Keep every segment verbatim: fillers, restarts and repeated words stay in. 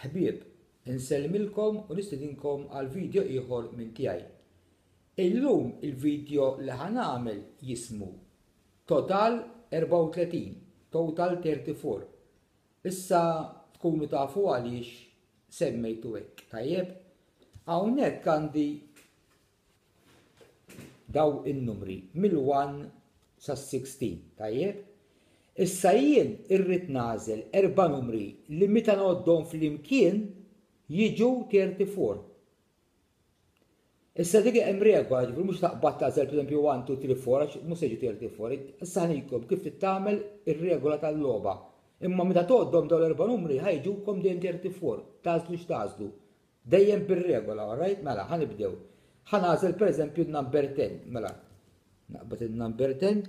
Ħbieb, insellmilkom u nistedinkom għal video ieħor minn tiegħi. Illum il-video li ħa nagħmel jismu Total erbgħa u tletin, Total thirty-four. Issa tkunu tafu għaliex semmejtu hekk, tajjeb? Hawnhekk għandi daw in-numri mill-one sa sixteen, tajjeb? Issa jien irrid nagħżel erba' numri li meta ngħoddhom flimkien jiġu thirty-four. Issa dik hemm regola, ġifieri mhux taqbad tagħżel pereżempju one, two, three, four, għax mhux se jiġu thirty-four. Issa ħanikom kif tagħmel ir-regola tal-logħba. Imma meta tgħoddhom dawn l-erba' numri ħajġukom dejjem thirty-four, tagħżlu x'tagħżlu. Dejjem bir-regola, all right? Mela, ħanibdew. Ħa nagħżel pereżempju n-number ten, mela. Naqbad il-number ten.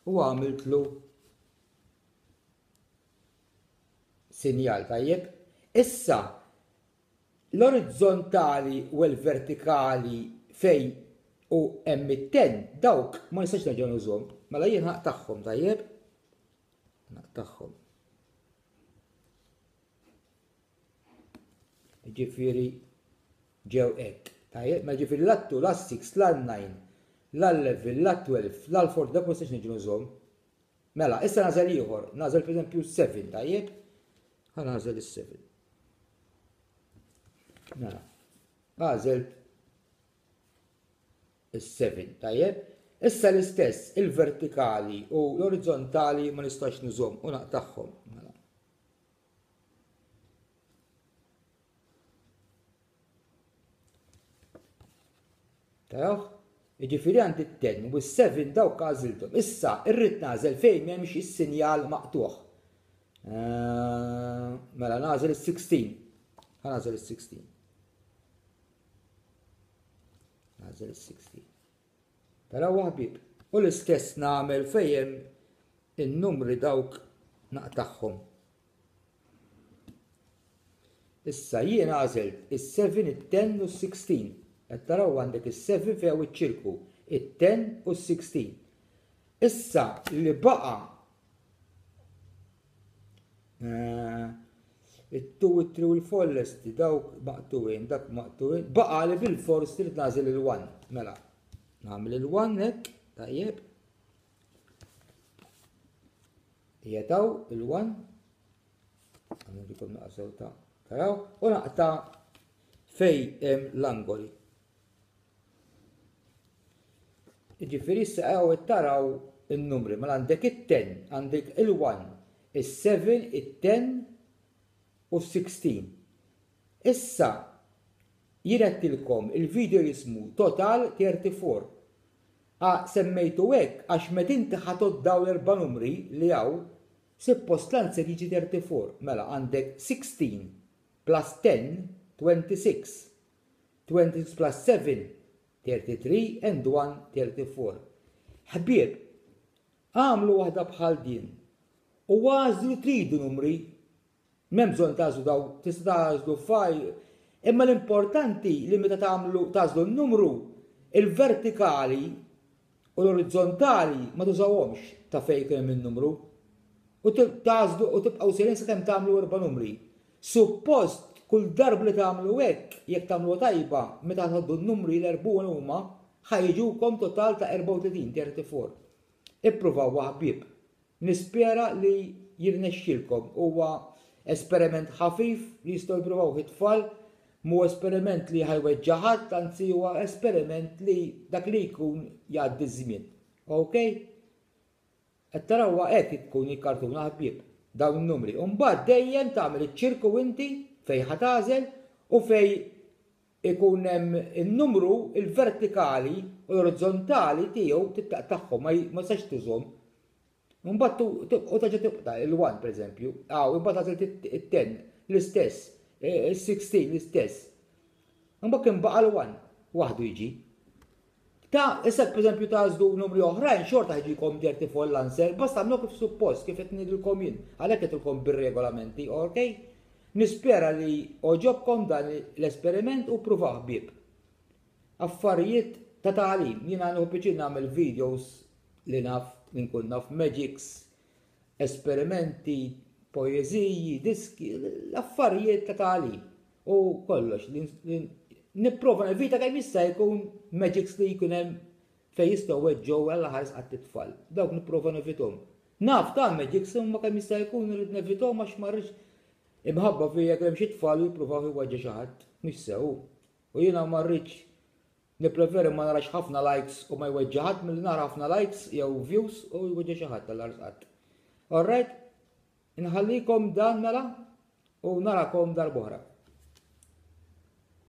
U għamiltlu sinjal, tajjeb. Issa, l-orizzontali u l-vertikali fej u hemm it-ten, dawk ma nistax nerġa' nużhom. Mela jien naqtagħhom, tajjeb? Naqtagħhom. Ġifieri ġew hekk. Tajjeb, ma ġifieri la two, la six, la nine, la eleven, la twelve, la four, dak ma nistax nerġa' nużhom. Mela, issa nagħżel ieħor, nagħżel pereżempju seven, tajjeb? Ħa nagħżel is-seven. Mela, għażelt is-seven, tajjeb? Issa l-istess, il-vertikali u l-orizzontali ma nistax nużhom u naqtagħhom. Mela. Taraw? Jiġifieri għandi t-ten u s-seven dawk għażilthom. Issa irrid nagħżel fejn m'hemmx is-sinjal maqtuħ. Eh, mela nagħżel is-sixteen. Ħa nagħżel is-sixteen. Nagħżel is-sixteen. Taraw ħabib. U l-istess nagħmel fejn in-numri dawk naqtagħhom. Issa jien għażilt is-seven, it-ten u s-sixteen. Qed taraw għandek is-seven fejn hawn iċ-ċirku, it-ten u s-sixteen. Issa li baqa', eh, it-two, it-three u l-four lesti, dawk maqtuwin, dak maqtuwin, baqa' li bil-fors trid nagħżel il-one. Mela, nagħmel il-one hekk, tajjeb. Jetaw il-one. Għamilkom naqsew ta' taraw, u naqta' fej hemm l-angoli. Jiġifieri issa hawn taraw in-numri, mela għandek it-ten, għandek il-one, is-seven, it-ten u s-sixteen. Issa jien għedtilkom il-video jismu Total thirty-four. A semmejtu hekk għax meta inti ħatod dawn l-erba' numri li hawn, suppost l-answer jiġi thirty-four. Mela għandek sixteen plus ten, twenty-six. twenty-six plus seven, thirty-three and one, thirty-four. Ħbieb, għamlu waħda bħal din u għażlu tridu numri. M'hemm bżonn tagħżlu daw, tista' tagħżlu five, imma l-importanti li meta tagħmlu tagħżlu n-numru, il-vertikali u l-orizzontali ma tużawhomx ta' fejn kien hemm in-numru. U tagħżlu u tibqgħu sejrin sakemm tagħmlu erba' numri. Suppost kull darba li tagħmlu hekk, jekk tagħmlu tajba, meta tgħaddu n-numri l-erbgħun huma, ħajġukom total ta' erbgħa u tletin, thirty-four. Ippruvaw ħbieb. Nispera li jirnexxilkom. Huwa esperiment ħafif li jistgħu jippruvaw it-tfal, mhu esperiment li ħajweġġa' ħadd, anzi huwa esperiment li dak li jkun jgħaddi ż-żmien. Ok? Qed tarawha hekk tkun il-kartuna ħbieb, dawn in-numri. U mbagħad dejjem tagħmel iċ-ċirku inti fejn ħa tagħżel u fejn ikun hemm in-numru il-vertikali u l-orizzontali tiegħu tittaqtagħhom, ma j-, ma tistax tużhom. Mbagħad tu-, tu-, u terġa' tibqa' il-one pereżempju, aw imbagħad tagħżel it-, it-ten l-istess, e, is-sixteen l-istess. Imbagħad kien baqa' l-one waħdu jiġi. Ta' issa pereżempju tagħżlu numri oħrajn xorta ħiġikom thirty-four l-answer, basta tagħmlu kif suppost, kif qed ngħidilkom jien, għalhekk qed bir-regolamenti, ok? Nispera li oġobkom dan l-esperiment u pruvaw ħbieb. Affarijiet ta' tagħlim, jiena nieħu pjaċir nagħmel videos li naf, li nkun naf magics, Esperimenti, poeżiji, diski, l-affarijiet ta' tagħlim u kollox. Nipprova nevita kemm jista' jkun magics li jkun hemm fejn jistgħu weġġgħu, Alla ħares qatt, it-tfal. Dawk nipprova nevitahom. Naf ta' magics, imma kemm jista' jkun irrid nevitahom għax ma rridx imħabba fija hemm xi tfal jippruvaw iweġġa' xi ħadd. Mhux sew. U jiena ma rridx, nippreferi ma narax ħafna likes u ma jweġġa' ħadd milli nara ħafna likes jew views u jweġġa' xi ħadd, Alla qatt. Alright, inħallikom dan mela u narakom darb'oħra.